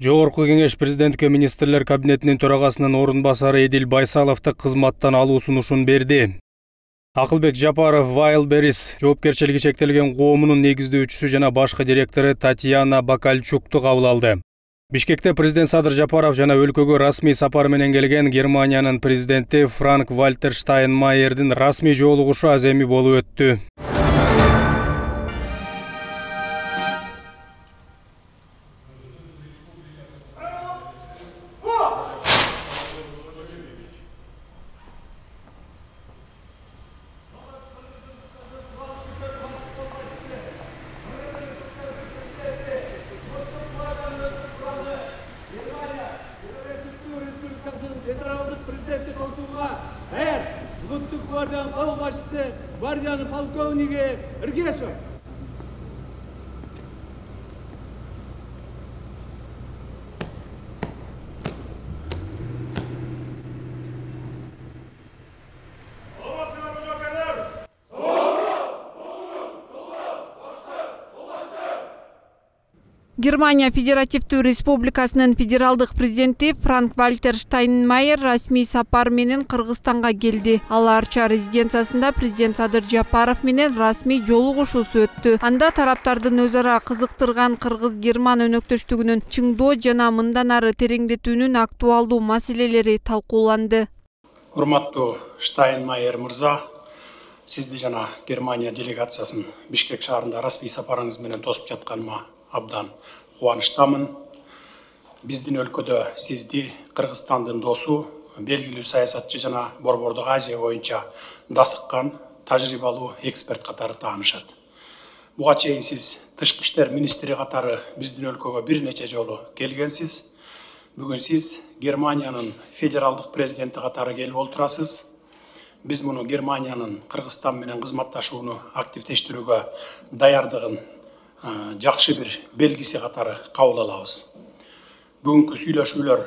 Жогорку кеңеш президентке министрлер кабинетинин төрагасынын орун басары Эдил Байсаловду кызматтан алуу сунушун берди. Акылбек Жапаров Wildberries жоопкерчилиги чектелген коомунун негиздөөчүсү жана башкы директору Татьяна Бакальчукту кабыл алды. Бишкекте президент Садыр Жапаров жана өлкөгө расмий сапар менен келген Германиянын президенти Франк-Вальтер Штайнмайердин расмий жолугушу аз эми болуп өттү. Федералдык президенттик окууга улуттук гвардиянын кол башчысы гвардиянын полковниги Иргешев. Германия Федеративдүү Республикасынын федералдык президенти Франк-Вальтер Штайнмайер расмий сапар менен Кыргызстанга келди. Ал Арча резиденциясында президент Садыр Жапаров менен расмий жолугушуусу өттү. Анда тараптардын өз ара кызыктырган кыргыз-герман өнөктөштүгүнүн чыңдоо жана мындан ары тереңдетүүнүн актуалдуу маселелери талкууланды. Урматтуу Штайнмайер мырза, сизди жана Германия делегациясын Бишкек шаарында расмий сапарыңыз менен тосуп жатканыма абдан кубанычтамын. Биздин өлкөдө сизди Кыргызстандын досу, белгилүү саясатчы жана Борбордук Азия боюнча дасыккан тажрыйбалуу эксперт катары таанышат. Буга чейин сиз тышкы иштер министри катары биздин өлкөгө бир нече жолу келгенсиз. Бүгүн сиз Германиянын федералдык президенти катары келип отурасыз. Биз муну Германиянын Кыргызстан менен кызматташууну активдештирүүгө даярдыгын жакшы бир белгиси катары кабыл алабыз. Бүгүнкү сүйлөшүүлөр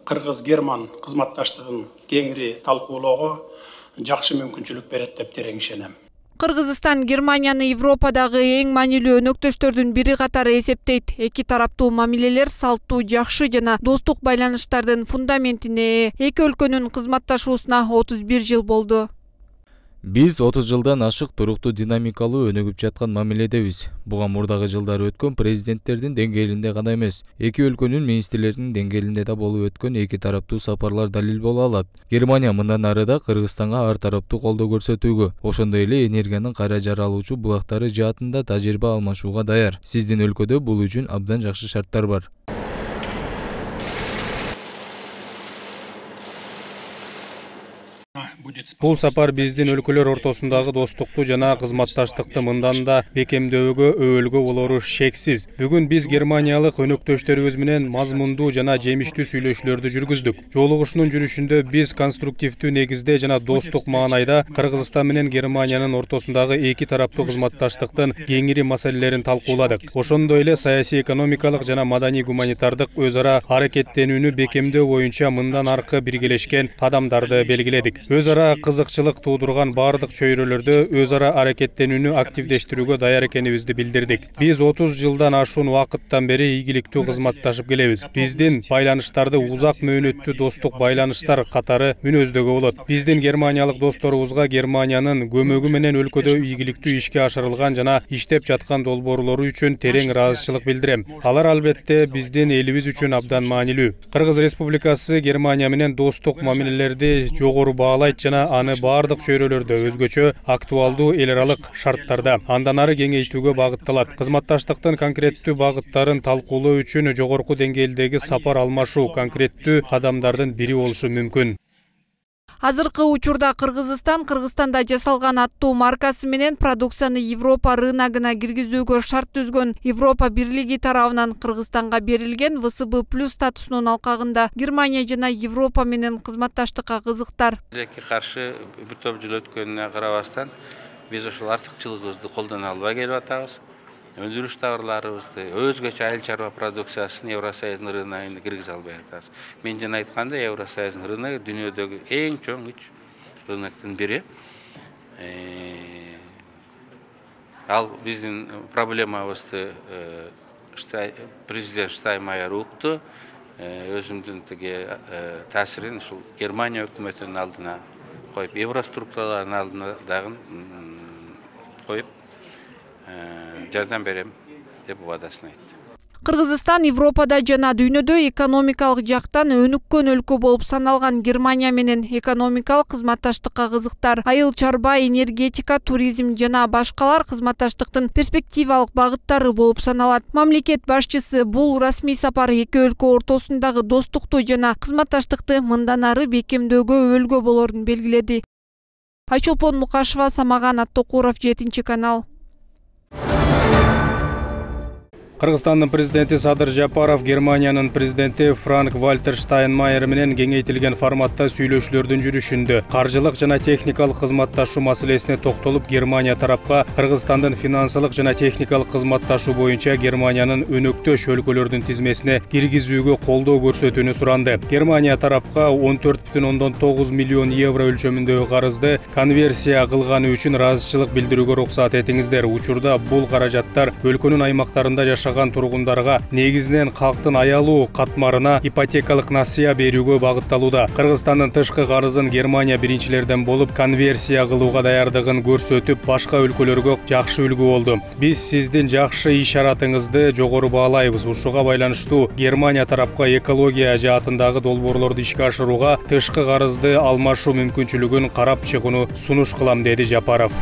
Кыргыз-Герман кызматташтыгын кеңири талкуулоого жакшы мүмкүнчүлүк берет деп терең ишенем. Кыргызстан Германияны Европадагы эң маанилүү өнөктөштөрдүн бири катары эсептейт. Эки тараптуу мамилелер салттуу, жакшы жана достук байланыштардын фундаментине ээ. Эки өлкөнүн кызматташуусуна 31 жыл болду. Биз 30 жылдан ашык туруктуу динамикалуу өнүгүп жаткан мамиледебиз. Буга мурдагы жылдары өткөн президенттердин деңгээлинде гана эмес, эки өлкөнүн министрлеринин деңгээлинде да болуп өткөн эки тараптуу сапарлар далил боло алат. Германия мындан ары да Кыргызстанга ар тараптуу колдоо көрсөтүүгө, ошондой эле энергиянын кайра жаралуучу булактары жаатында тажрыйба алмашууга даяр. Сиздин өлкөдө бул үчүн абдан жакшы шарттар бар. Бул сапар биздин өлкөлөр ортосундагы достукту жана кызматташтыкты мындан да бекемдөөгө, өбөлгө болору шексиз. Бүгүн биз германиялык өнөктөштөрүбүз менен мазмундуу жана жемиштүү сүйлөшүүлөрдү жүргүздүк. Жолугушуунун жүрүшүндө биз конструктивдүү негизде жана достук маанайда Кыргызстан менен Германиянын ортосундагы эки тараптуу кызматташтыктын кеңири маселелерин талкууладык. Ошондой эле саясий, экономикалык жана маданий гуманитардык өз ара аракеттенүүнү бекемдөө боюнча мындан аркы биргелешкен кадамдарды белгиледик. Өз ара кызыкчылык туудурган бардык чөйрөлөрдө өз ара аракеттенүүнү активдештирүүгө даяр экенибизди билдирдик. Биз 30 жылдан ашуун убакыттан бери ийгиликтүү кызматташып келебиз. Биздин байланыштарды узак мөөнөттүү достук байланыштар катары мүнөздөгө болот. Биздин германиялык досторубузга Германиянын көмөгү менен өлкөдө ийгиликтүү ишке ашырылган жана иштеп жаткан долбоорлору үчүн терең ыраазычылык билдирем. Алар албетте биздин элибиз үчүн абдан маанилүү. Кыргыз Республикасы Германия менен достук мамилелерди жогору баалайт жана аны бардык чөйрөлөрдө өзгөчө актуалдуу эл аралык шарттарда андан ары кеңейтүүгө багытталат. Кызматташтыктын конкреттүү багыттарын талкуулоо үчүн жогорку деңгээлдеги сапар алмашуу конкреттүү кадамдардын бири болушу мүмкүн. Азыркы учурда Кыргызстанда жасалган аттуу маркасы менен продукцияны Европа рыногуна киргизүүгө шарт түзгөн Европа Бирлиги тарабынан Кыргызстанга берилген ВСБ+ статусунун алкагында Германия жана Европа менен кызматташтыкка кызыктар. Тилекке каршы бир топ жыл өткөнүнө карабастан биз ошол артыкчылыгыбызды колдоно албай келип атабыз. Өндүрүш товарларыбызды, өзгөчө айыл чарба продукциясын Евросоюздун рыногуна киргизе албай атабыз. Мен жана айтканда Евросоюздун рыногу дүйнөдөгү эң чоң 3 рыноктун бири. Ал биздин проблемабызды президент Штайнмайер укту. Өзүмдүн тиги таасирин ушул Германия өкмөтүнүн алдына коюп, евроструктуралардын алдына дагы коюп жардам берем деп убадасын айтты. Кыргызстан Европада жана дүйнөдө экономикалык жактан өнүккөн өлкө болуп саналган Германия менен экономикалык кызматташтыкка кызыктар. Айыл чарба, энергетика, туризм жана башкалар кызматташтыктын перспективалык багыттары болуп саналат. Мамлекет башчысы бул расмий сапар эки өлкө ортосундагы достукту жана кызматташтыкты мындан ары бекемдөөгө өбөлгө болорун белгиледи. Айчолпон Мукашева, Самаган Аттокуров, 7-канал. Кыргызстандын президенти Садыр Жапаров Германиянын президенти Франк-Вальтер Штайнмайер менен кеңейтилген форматта сүйлөшүүлөрдүн жүрүшүндө каржылык жана техникалык кызматташуу маселесине токтолуп, Германия тарапка Кыргызстандын финансылык жана техникалык кызматташуу боюнча Германиянын өнөктөш өлкөлөрдүн тизмесине киргизүүгө колдоо көрсөтүүнү суранды. Германия тарапка 14,9 миллион евро өлчөмүндөгү карызды конверсия кылганы үчүн ыраазычылык билдирүүгө уруксат этиңиздер. Учурда бул каражаттар өлкөнүн аймактарында жашаган тургундарга негизинен калктын аялуу катмарына ипотекалык насыя берүүгө багытталууда. Кыргызстандын тышкы карызын Германия биринчилерден болуп конверсия кылууга даярдыгын көрсөтүп, башка өлкөлөргө жакшы үлгү болду. Биз сиздин жакшы ишаратыңызды жогору баалайбыз. Ушуга байланыштуу Германия тарапка экология жаатындагы долбоорлорду ишке ашырууга тышкы карызды алмашуу мүмкүнчүлүгүн карап чыгууну сунуш кылам, деди Жапаров.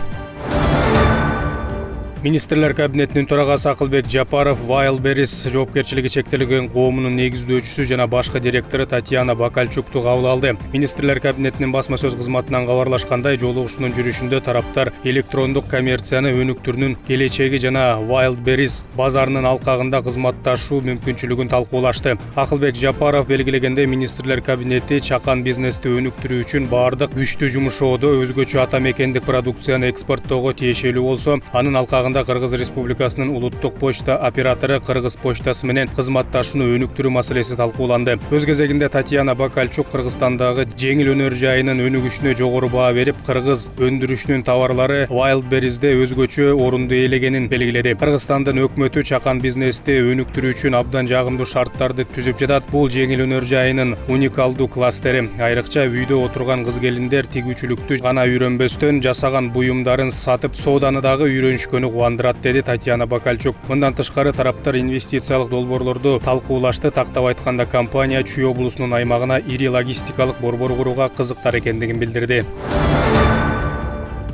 Министрлер кабинетинин төрагасы Акылбек Жапаров Wildberries жоопкерчилиги чектелген коомунун негиздөөчүсү жана башкы директору Татьяна Бакальчукту кабыл алды. Министрлер кабинетинин басма сөз кызматынан кабарлашкандай, жолугушуунун жүрүшүндө тараптар электрондук коммерцияны өнүктүрүүнүн келечеги жана Wildberries базарынын алкагында кызматташуу мүмкүнчүлүгүн талкуулашты. Акылбек Жапаров белгилегендей, министрлер кабинети чакан бизнести өнүктүрүү үчүн баардык күчтүү жумушоодо өзгөчө ата мекендик продукцияны экспорттоого тиешелүү болсо, анын алкагында Кыргыз Республикасынын улуттук почта оператору Кыргыз почтасы менен кызматташууну өнүктүрүү маселеси талкууланды. Өз кезегинде Татьяна Бакальчук Кыргызстандагы жеңил өнөр жайынын өнүгүшүнө жогору баа берип, кыргыз өндүрүшүнүн товарлары Wildberries'де өзгөчө орунду ээлегенин белгиледи. Кыргызстандын өкмөтү чакан бизнести өнүктүрүү үчүн абдан жагымдуу шарттарды түзүп жатат. Бул жеңил өнөр жайынын уникалдуу кластери. Айрыкча үйдө отурган кыз-келиндер тигүүчүлүктү гана үйрөнбөстөн жасаган буюмдарын сатып, сооданы дагы үйрөнүшкөнү кубандырат, деди Татьяна Бакальчук. Мындан тышкары тараптар инвестициялык долбоорлорду талкуулашты. Тактап айтканда, компания Чүй облусунун аймагына ири логистикалык борбор курууга кызыктар экендигин билдирди.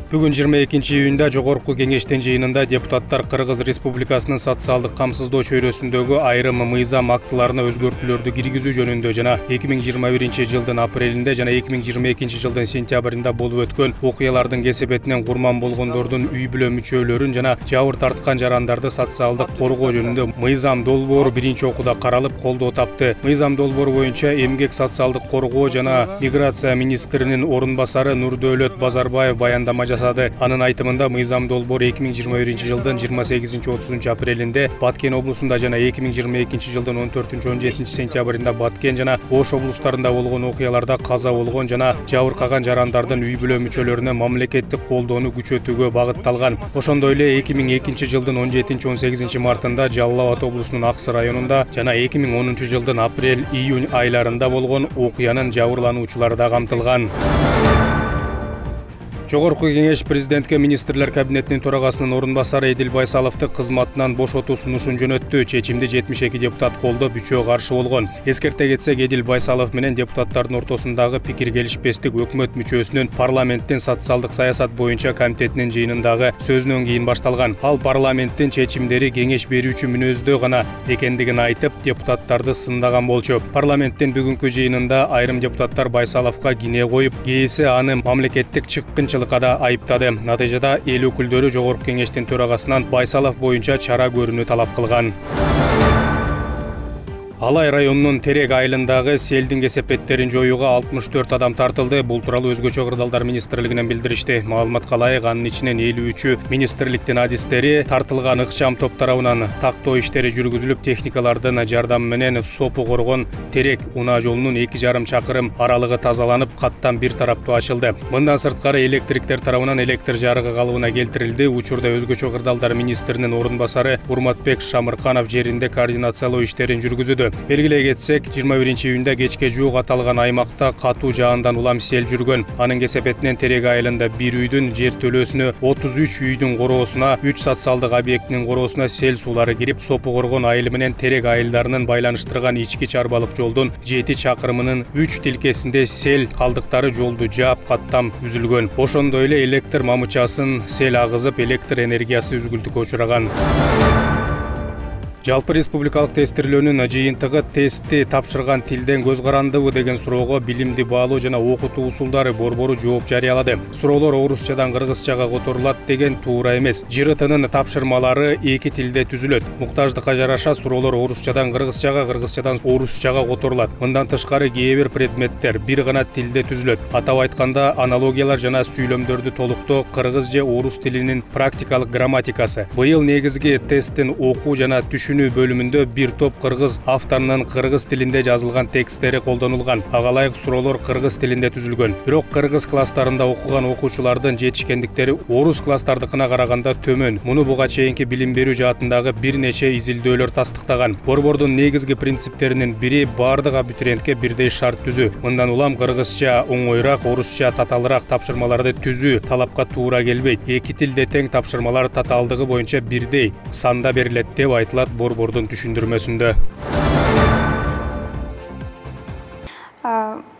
Бүгүн 22-июнда Жогорку кеңештин жыйынында депутаттар Кыргыз Республикасынын социалдык камсыздоо чөйрөсүндөгү айрым мыйзам актыларына өзгөртүүлөрдү киргизүү жөнүндө жана 2021-жылдын апрелинде жана 2022-жылдын сентябрында болуп өткөн окуялардын кесепетинен курман болгондордун үй бүлө мүчөлөрүн жана жабыр тарткан жарандарды социалдык коргоо жөнүндө мыйзам долбоору биринчи окууда каралып, колдоо тапты. Мыйзам долбоору боюнча эмгек, социалдык коргоо жана миграция министринин орун басары Нурдөөлөт Базарбаев баяндама жасады. Анын айтымында, мыйзам долбоору 2021-жылдын 28-30 апрелинде Баткен облусунда жана 2022-жылдын 14-17 сентябрында Баткен жана Ош облустарында болгон окуяларда каза болгон жана жабыркаган жарандардын үй бүлө мүчөлөрүнө мамлекеттик колдоону күчөтүүгө багытталган. Ошондой эле 2002-жылдын 17-18 мартында Жалал Абад облусунун Аксы районунда жана 2010-жылдын апрель-июнь айларында болгон окуянын жабырлануучулары да камтылган. Жогорку кеңеш президентке министрлер кабинетинин төрагасынын орун басары Эдил Байсаловду кызматынан бошотуу сунушун жөнөттү. Чечимди 72 депутат колдоп, 3-өө каршы болгон. Эскерте кетсек, Эдил Байсалов менен депутаттардын ортосундагы пикир келишпестик өкмөт мүчөсүнүн парламенттин социалдык саясат боюнча комитетинин жыйынындагы сөзүнөн кийин башталган. Ал парламенттин чечимдери кеңеш берүүчү мүнөздө гана экендигин айтып, депутаттарды сындаган болчу. Парламенттин бүгүнкү жыйынында айрым депутаттар Байсаловго кине коюп, кээси аны мамлекеттик чыккынчылыкка да айыптады. Натыйжада эл өкүлдөрү Жогорку кеңештин төрагасынан Байсалов боюнча чара көрүүнү талап кылган. Алай районунун Терек айылындагы селдин кесепеттерин жоюуга 64 адам тартылды. Бул тууралуу Өзгөчө кырдаалдар министрлигинен билдиришти. Маалыматка ылайык, анын ичинен 53-ү министрликтин адистери, тартылган ыкчам топ тарабынан тактоо иштери жүргүзүлүп, техникалардын жардамы менен Сопу Коргон Терек унаа жолунун 2,5 чакырым аралыгы тазаланып, каттан бир тараптуу ачылды. Мындан сырткары электриктер тарабынан электр жарыгы калыбына келтирилди. Учурда Өзгөчө кырдаалдар министринин орун басары Урматбек Шамырканов жеринде координациялоо иштерин жүргүзүүдө. Белгилей кетсек, 21-июнда кечке жуук аталган аймакта катуу жаандан улам сел жүргөн. Анын кесепетинен Терек айылында бир үйдүн жер төлөөсүнө, 33 үйдүн короосуна, 3 социалдык объектинин короосуна сел суулары кирип, Сопу Коргон айылы менен Терек айылдарынын байланыштырган ички чарбалык жолдун 7 чакырымынын 3 тилкесинде сел калдыктары жолду жаап, каттам үзүлгөн. Ошондой эле электр мамычасын сел агызып, электр энергиясы үзгүлтүккө учураган. Жалпы республикалык тестирлөөнүн жыйынтыгы тестти тапшырган тилден көз карандыбы деген суроого билимди баалоо жана окутуу усулдары борбору жооп жарыялады. Суроолор орусчадан кыргызчага которулат деген туура эмес. ЖРТнын тапшырмалары 2 тилде түзүлөт. Муктаждыкка жараша суроолор орусчадан кыргызчага, кыргызчадан орусчага которулат. Мындан тышкары кээ бир предметтер бир гана тилде түзүлөт. Атап айтканда, аналогиялар жана сүйлөмдөрдү толуктоо кыргыз же орус тилинин практикалык грамматикасы. Быйыл негизги тесттин окуу жана түшүнүү бөлүмүндө бир топ кыргыз авторунун кыргыз тилинде жазылган тексттери колдонулган. Ага ылайык суроолор кыргыз тилинде түзүлгөн. Бирок кыргыз класстарында окуган окуучулардын жетишкендиктери орус класстардыкына караганда төмөн. Муну буга чейинки билим берүү жаатындагы бир нече изилдөөлөр тастыктаган. Борбордун негизги принциптеринин бири бардык абитуриентке бирдей шарт түзүү. Мындан улам кыргызча оңоюраак, орусча татаалыраак тапшырмаларды түзүү талапка туура келбейт. Эки тилде тең тапшырмалар татаалдыгы боюнча бирдей санда берилет деп айтылат борбордун түшүндүрмөсүндө.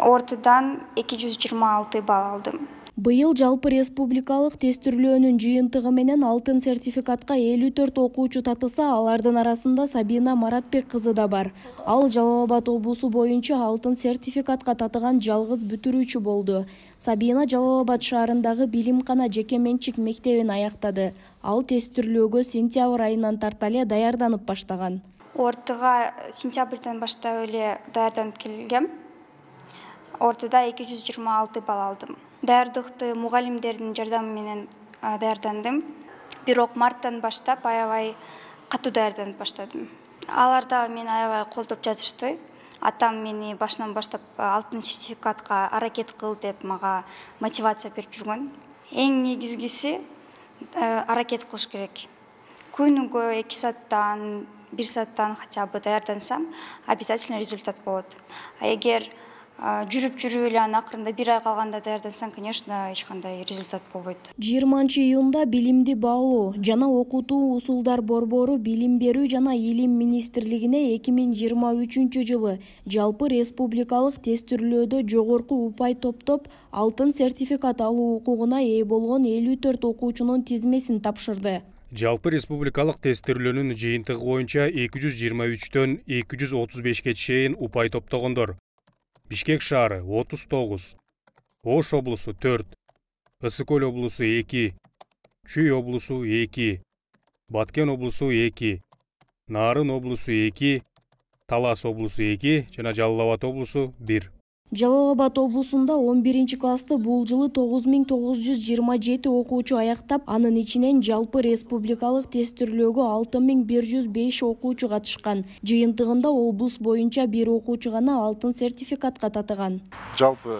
Ортадан 226 балл алдым. Быйыл жалпы республикалык тестирлөөнүн жыйынтыгы менен алтын сертификатка 54 окуучу татылса, алардын арасында Сабина Маратбек кызы да бар. Ал Жалал Абад облусу боюнча алтын сертификатка татыган жалгыз бүтүрүүчү болду. Сабина Жалал Абад шаарындагы Билимкана жеке менчик мектебин аяктады. Ал тестирлөөгө сентябрь айынан тарта эле даярданып баштаган. Ортага сентябрдан баштап эле даярданып келгем. Ортада 226 балл алдым. Даярдыкты мугалимдердин жардамы менен даярдандым. Бирок марттан баштап аябай катуу даярданып баштадым. Алар да мени аябай колдоп жатышты. Атам мени башынан баштап алтын сертификатка аракет кыл деп мага мотивация берип жүргөн. Эң негизгиси аракет кылыш керек. Күнүгө 2 сааттан, 1 сааттан хотя бы даярдансам, обязательно результат болот. А эгер жүрүп эле анан акырында 1 ай калганда даярдансаң, конечно, эч кандай результат болбойт. 20-июнда билимди баалоо жана окутуу усулдар борбору Билим берүү жана Илим министрлигине 2023-жылы жалпы республикалык тестирлөөдө жогорку упай топтоп алтын сертификат алуу укугуна ээ болгон 54 окуучунун тизмесин тапшырды. Жалпы республикалык тестирлөөнүн жыйынтыгы боюнча 223төн 235ке чейин упай топтогондор. Бишкек шаары 39, Ош облусу 4, Ысык Көл облусу 2, Чүй облусу 2, Баткен облусу 2, Нарын облусу 2, Талас облусу 2 жана Жалал Абад облусу 1. Жалал Абад облусунда 11-классты бул жылы 9927 окуучу аяктап, анын ичинен жалпы республикалык тестирлөөгө 6105 окуучу катышкан. Жыйынтыгында облус боюнча 1 окуучу гана алтын сертификатка татыган. Жалпы